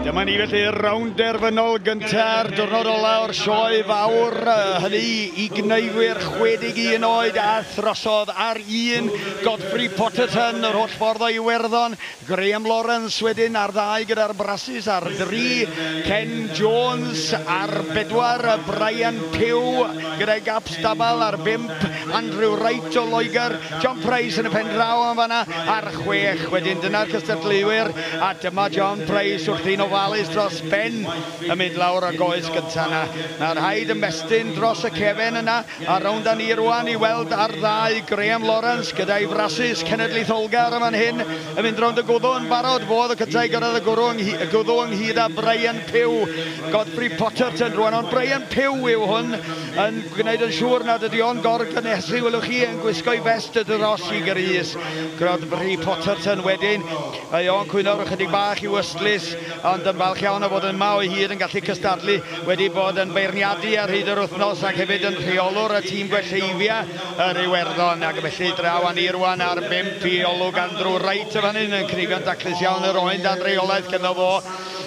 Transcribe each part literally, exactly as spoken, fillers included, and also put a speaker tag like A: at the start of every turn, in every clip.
A: Dyma ni felly rownd derfynol gynta'r diwrnod ola o'r sioe fawr, hynny i gneifwyr chwe deg un oed a throsodd ar un Godfrey Potterton yr holl ffordd o Iwerddon, Graham Lawrence wedyn ar ddau gyda'r Brasis ar dri, Ken Jones ar bedwar, Brian Pugh gyda'i gaps dabal ar bump, Andrew Wright o Loegr, John Price yn y pen draw yn fanna ar chwech. Wedyn dyna'r cystadleuwyr, a dyma John Price wrth un ofalus dros ben yn mynd lawr y goes gyntaf yna. Mae'r rhaid ymestyn dros y cefen yna, a rownd â ni rwan i weld ar ddau Graham Lawrence gyda'i frasus cenedlaetholgar yn fan hyn, yn mynd rownd y gwddw yn barod. Fodd y cyntaf i gyrraedd y gwddw ynghyd â Brian Pugh. Godfrey Potterton rwan, ond Brian Pugh yw hwn, yn gwneud yn siŵr nad ydy o'n gorgynesu, welwch chi, yn gwisgo'i fest dros i grys. Godfrey Potterton wedyn, mae o'n cwyno ychydig bach i'w ystlys, ond yn falch iawn o fod yma o hyd yn gallu cystadlu, wedi bod yn beirniadu ar hyd yr wythnos ac hefyd yn rheolwr y tîm gwelleifia yr Iwerddon, ac felly draw â ni rwan ar bump i olwg Andrew Wright y fan hyn yn cnifio'n daclus iawn yr oen dan reolaeth gyda fo.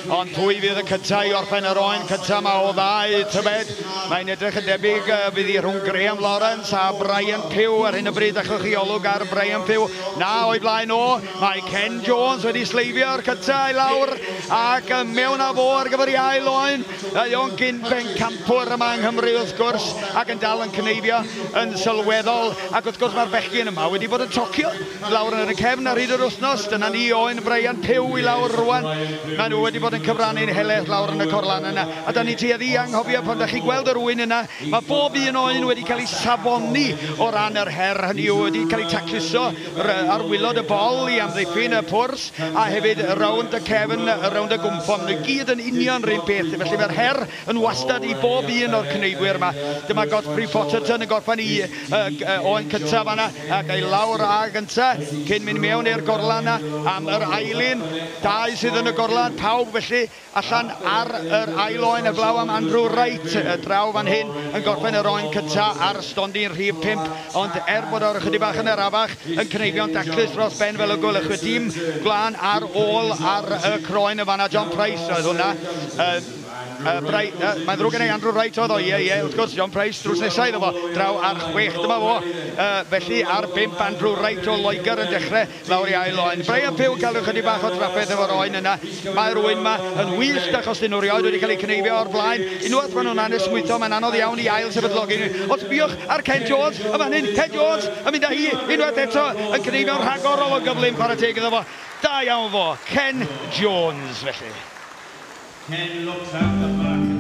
A: Ond pwy fydd y cyntaf i orffen yr oen cyntaf yma o ddau, tybed? Mae'n edrych yn debyg fydd hi rhwng Graham Lawrence a Brian Pugh ar hyn o bryd. Achwch chi olwg ar Brian Pugh. Na, o'i blaen o, mae Ken Jones wedi sleifio'r cyntaf i lawr ac mewn â fo ar gyfer ei ail oen. Mae o'n gyn bencampwr yma yng Nghymru wrth gwrs ac yn dal yn cneifio yn sylweddol. Ac wrth gwrs mae'r bechgyn yma wedi bod yn tocio lawr yn y cefn ar hyd yr wythnos. Dyna ni oen Brian Pugh i lawr rwan. Maen nhw wedi bod yn cyfrannu'n helaeth lawr yn y corlan yna. A da ni tueddu i anghofio pan da chi gweld yr ŵyn yna, mae bob un oen wedi cael ei safoni o ran yr her, hynny yw wedi cael ei tacluso ar waelod y bol i amddiffyn y pwrs, a hefyd rownd y cefn, rownd y gwmffon. Maen nhw gyd yn union rhywun peth, felly mae'r her yn wastad i bob un o'r cneifwyr yma. Dyma Godfrey Potterton yn gorffen i oen cyntaf yna, ac ei lawr a gyntaf, cyn mynd mewn i'r gorlan yna am yr ailun. Dau sydd yn y gorlan, pawb felly allan ar yr ail oen heblaw am Andrew Wright draw fan hyn yn gorffen yr oen cyntaf ar stondin rhif pump, ond er bod o'r ychydig bach yn arafach yn cneifio'n daclus dros ben fel y gwelwch chi, dim gwlân ar ôl ar y croen y fanna. John Price oedd hwnna. Uh, Uh, uh, mae'n ddrwg gen i, Andrew Wright oedd o, ie, ie, wrth gwrs, John Price drws nesaf iddo fo, draw ar chwech, dyma fo. Uh, felly ar bump, Andrew Wright o Loegr yn dechrau lawr i ail oen. Brian Pugh cael ychydig bach o drafferth efo'r oen yna. Mae'r oen yma yn wyllt achos dyn nhw rioed wedi cael eu cneifio o'r blaen. Unwaith maen nhw'n anesmwytho, mae'n anodd iawn i ail sefydlogi nhw. Ond sbiwch ar Ken Jones, y fan hyn, Ken Jones yn mynd â hi unwaith eto yn cneifio'n rhagorol o gyflym, chwarae teg iddo fo. Da iawn fo, Ken Jones felly.
B: Ken looks out the back.